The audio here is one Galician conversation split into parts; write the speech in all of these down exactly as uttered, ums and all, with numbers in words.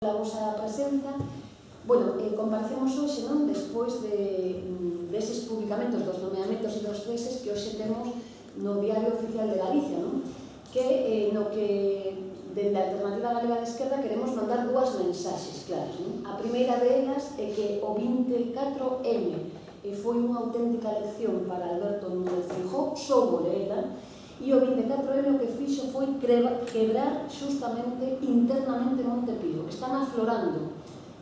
a vosa presenza. Bueno, eh, comparecemos hoxe, non? Despois de, deses publicamentos dos nomeamentos e dos ceses que hoxe temos no Diario Oficial de Galicia, non? Que eh, no que dende a Alternativa Galega de Esquerda queremos mandar dúas mensaxes claras, non? A primeira delas é que o vinte e catro eme e foi unha auténtica lección para Alberto Núñez Feijóo, soubo leela, e o vinte e catro eme o que fixo foi quebrar xustamente internamente Monte Pío. Están aflorando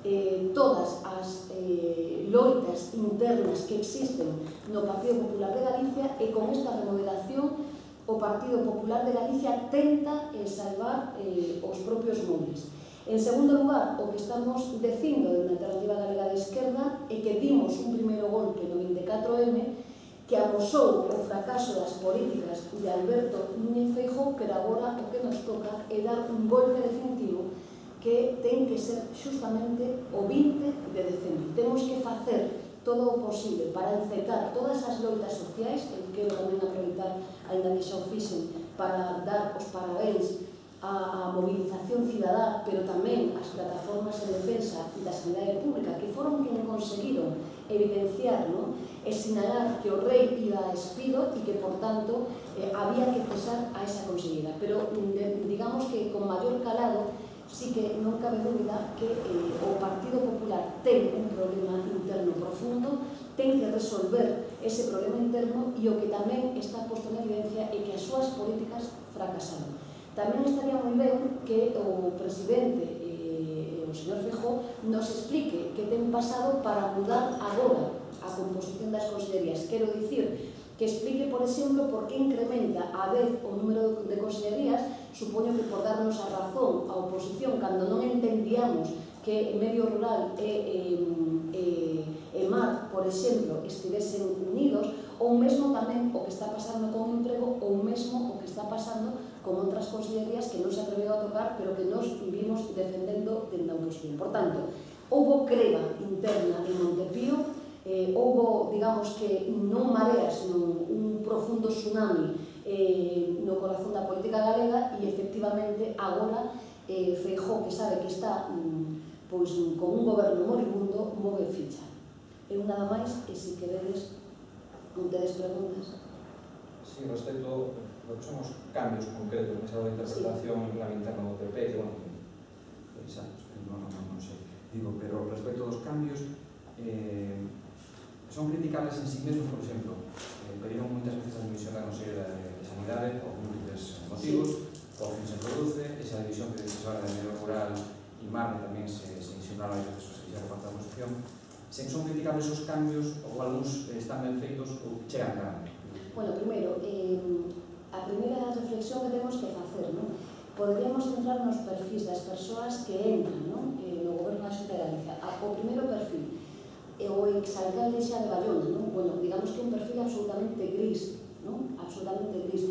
eh, todas as eh, loitas internas que existen no Partido Popular de Galicia e con esta remodelación o Partido Popular de Galicia tenta eh, salvar eh, os propios montes. En segundo lugar, o que estamos dicindo dentro da Alternativa Galega de Esquerda é que dimos un primeiro golpe no vinte e catro eme que amosou o fracaso das políticas de Alberto Núñez Feijóo, pero agora o que nos toca é dar un golpe definitivo que ten que ser xustamente o vinte de decembro. Temos que facer todo o posible para encetar todas as loitas sociais, e quero tamén aproveitar, ainda que xa o fixen, para dar os parabéns á movilización cidadá, pero tamén as plataformas de defensa da sanidade pública, que foron quen conseguiron evidenciar, non? E sinalar que o rei iba a despido e que, por tanto, eh, había que cesar a esa consellera. Pero, de, digamos que con maior calado, sí que non cabe dúbida que eh, o Partido Popular ten un problema interno profundo, ten que resolver ese problema interno e o que tamén está posto na evidencia é que as súas políticas fracasaron. Tamén estaría moi ben que o presidente, eh, o señor Feijóo, nos explique que ten pasado para mudar agora a composición das consellerías. Quero dicir, que explique, por exemplo, por que incrementa a vez o número de consellerías, supoño que por darnos a razón a oposición, cando non entendíamos que medio rural e, e, e mar, por exemplo, estivesen unidos, ou mesmo tamén o que está pasando con emprego, ou mesmo o que está pasando con outras consellerías que non se atreveu a tocar, pero que nos vimos defendendo dende a oposición. Por tanto, houbo creba interna en Monte Pío, eh, houbo, digamos que, non mareas, non un profundo tsunami eh, no corazón da política galega e, efectivamente, agora eh, Feijóo, que sabe que está mm, pois, con un goberno moribundo, move ficha. Eu nada máis, e se queredes, non tedes preguntas. Sí, respecto a lo que son os cambios concretos nesa interpretación sí. La interna do P P, que, bueno, exacto, non, non, non sei. Digo, pero respecto aos cambios, eh, son criticables en sí mesmos, por exemplo, eh, pediron moitas veces a dimisión da Conselleira de Sanidade por múltiples motivos, por fin se produce, esa división que se habla de medio rural e mar tamén se, se insinuaba a veces os que xa reparta a oposición. Se son criticables os cambios, ou algúns eh, están ben feitos ou chegan tarde. Bueno, primeiro, eh, a primeira reflexión que temos que facer, non? Poderíamos centrar nos perfis das persoas que entran, non? Eh, no goberno da Xunta de Galicia. O primeiro perfil, o exalcalde xa de Bayona, non? Bueno, digamos que un perfil absolutamente gris, non? Absolutamente gris.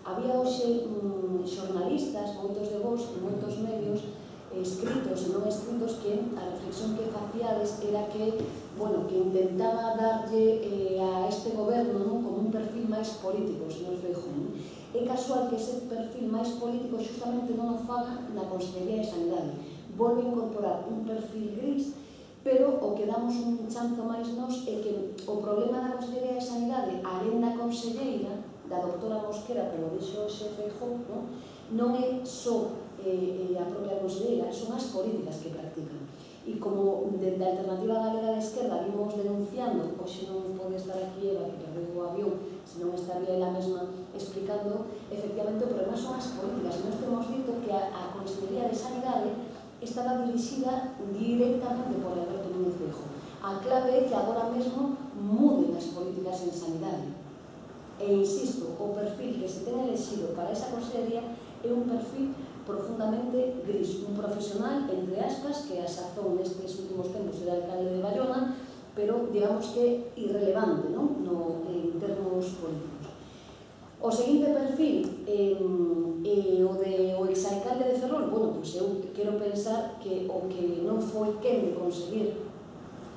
Había hoxe mm, xornalistas, moitos de vos, en moitos medios, eh, escritos e non escritos, que a reflexión que facíades era que, bueno, que intentaba darlle eh, a este goberno, non? Como un perfil máis político, señor Feijóo, non? É casual que ese perfil máis político xustamente non o faga na Consellería de Sanidade. Volve a incorporar un perfil gris, pero o que damos un chanzo máis nos é que o problema da Consellería de Sanidade, alén da conselleira, da doutora Mosquera, como dixo o xe Feijóo, non, non é só eh, a propia conselleira, son as políticas que practican. E como dende a Alternativa Galega de Esquerda vimos denunciando, hoxe non pode estar aquí Eva, que perdeu o avión, senón estaría ela mesma explicando, efectivamente o problema son as políticas. Nós temos dito que a, a Consellería de Sanidade estaba dirixida directamente por Alberto Núñez Feijóo. A clave é que agora mesmo muden as políticas en sanidade. E insisto, o perfil que se ten elexido para esa consellería é un perfil profundamente gris, un profesional, entre aspas, que a sazón nestes últimos tempos era alcalde de Bayona, pero digamos que irrelevante, non? No, en termos políticos. O seguinte perfil, eh, eh, o de o exalcalde de Ferrol, bueno, pois eu quero pensar que o que non foi quen de conseguir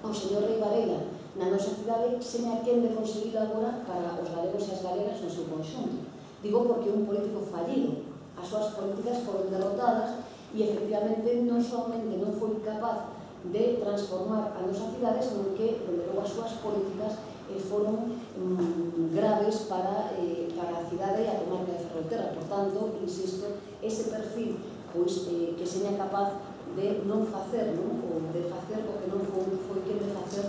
o señor Rei Varela na nosa cidade, seña quen de conseguir agora para os galegos e as galegas no seu conxunto. Digo porque é un político fallido, as súas políticas foron derrotadas e e efectivamente non somente non foi capaz de transformar a nosa cidade, senón que, dende logo, as súas políticas eh, foron mm, graves para, eh, para a cidade e a comarca de Ferrolterra. Por tanto, insisto, ese perfil pois, eh, que seña capaz de non facer, non? Ou de facer o que non foi, foi quen de facer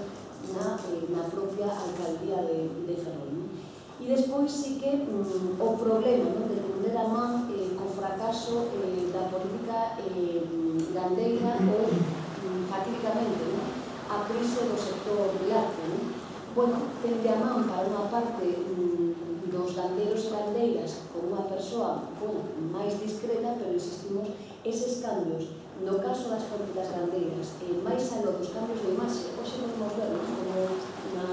na, eh, na propia alcaldía de, de Ferrol. Non? E despois sí que mm, o problema, non? De tender a man eh, co fracaso eh, da política eh, gandeira ou mm, fatídicamente, non? A crise do sector lácteo. Non? Bueno, tende a man para unha parte mm, dos gandeiros e gandeiras con unha persoa bueno, máis discreta, pero insistimos, eses cambios no caso das políticas gandeiras, eh, máis aló dos cambios de imaxe, hoxe podemos ver, non? Como na,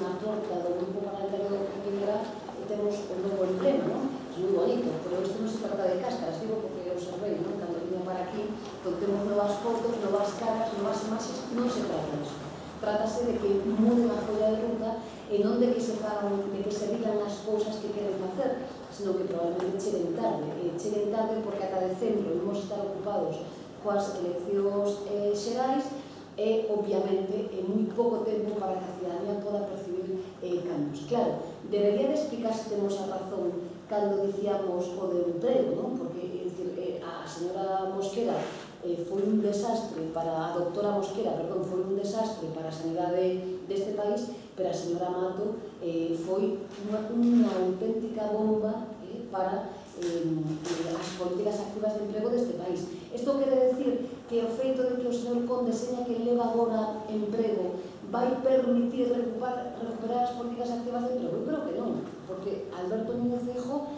na porta do grupo parlamentario de Piñera eh, temos un novo emblema, non? É moi bonito, pero isto non se trata de cáscaras, digo porque observei, non? Cando viña para aquí, donde temos novas fotos, novas caras, novas imaxes, non se trata disso. Trátase de que muden a folla de ruta e non de que se fagan, de que se digan as cousas que queren facer, senón que probablemente cheguen tarde. E cheguen tarde porque ata decembro imos estar ocupados coas eleccións eh, xerais e, obviamente, é moi pouco tempo para que a cidadanía poda percibir eh, cambios. Claro, debería de explicar se temos a razón cando dicíamos o de emprego, non? Porque, é dicir, eh, a señora Mosquera eh, foi un desastre para a doctora Mosquera, perdón, foi un desastre para a sanidade deste país, pero a señora Mato eh, foi unha, unha auténtica bomba eh, para eh, as políticas activas de emprego deste país. Isto quere decir que o feito de que o señor Conde seña que leva agora emprego vai permitir recuperar, recuperar as políticas activas de emprego? Eu creo que non, porque Alberto Núñez Feijóo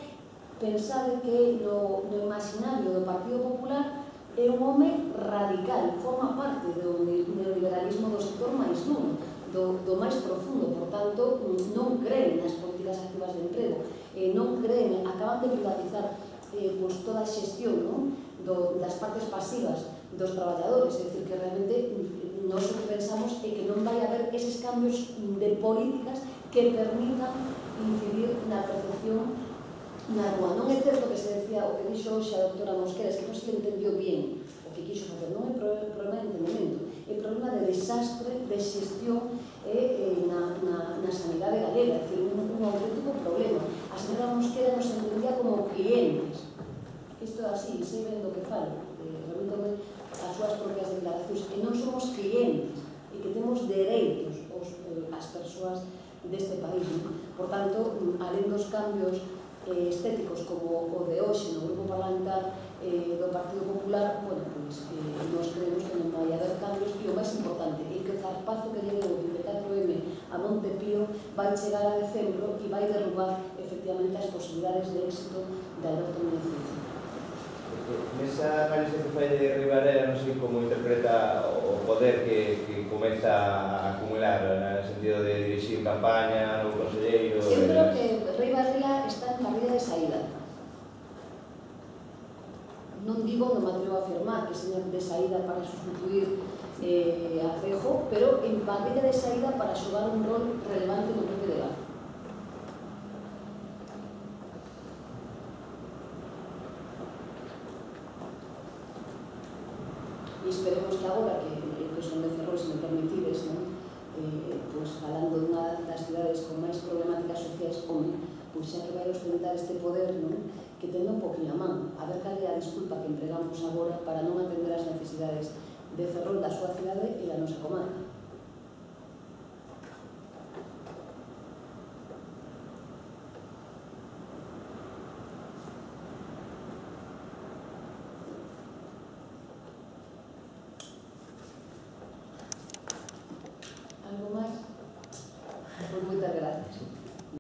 pensade que no, no imaginario do Partido Popular é un home radical, forma parte do neoliberalismo do sector máis duro, do, do máis profundo, por tanto, non creen nas políticas activas de emprego, eh, non creen, acaban de privatizar eh, pues, toda a xestión, non? Do, das partes pasivas dos traballadores, é dicir, que realmente nós o que pensamos é que non vai haber eses cambios de políticas que permitan incidir na percepción na rúa. Non é certo que se decía o que dixo hoxe a doctora Mosquera, es que non se entendió bien o que quixo facer, non é problema de entendimento, é problema de desastre de xestión eh, eh, na, na, na sanidade galega, é dicir, un, un auténtico problema. A señora Mosquera nos entendía como clientes. Isto é así, sei ben do que falo, eh, remítome as súas propias declaracións, e non somos clientes, e que temos dereitos os, eh, as persoas deste país. Non? Por tanto, alén dos cambios eh, estéticos como o de hoxe no grupo parlamentar eh, do Partido Popular, bueno, pois, eh, nós creemos que non vai haber cambios, e o máis importante é que o zarpazo que lle deu o vinte e catro eme a Monte Pío vai chegar a decembro e vai derrubar efectivamente as posibilidades de éxito de Alberto Núñez Feijóo. Nesa análise que fai de Ribarela, non sei como interpreta o poder que, que comeza a acumular no sentido de dirixir campaña, no conselleiro... Eu creo que Ribarela está en barriga de saída. Non digo, non me atrevo a afirmar que seña de saída para sustituir eh, a Feijóo, pero en barriga de saída para xogar un rol relevante no P P D A. E esperemos que agora que, que son de Ferrol, se me permitides, non? Eh, pues, falando dunha das cidades con máis problemáticas sociais, home, pois xa que vai ostentar este poder, non? Que tenda un poquinho a man, a ver cal é a disculpa que empregamos agora para non atender as necesidades de Ferrol, da súa cidade e da nosa comarca. Algo máis? Pois moitas gracias.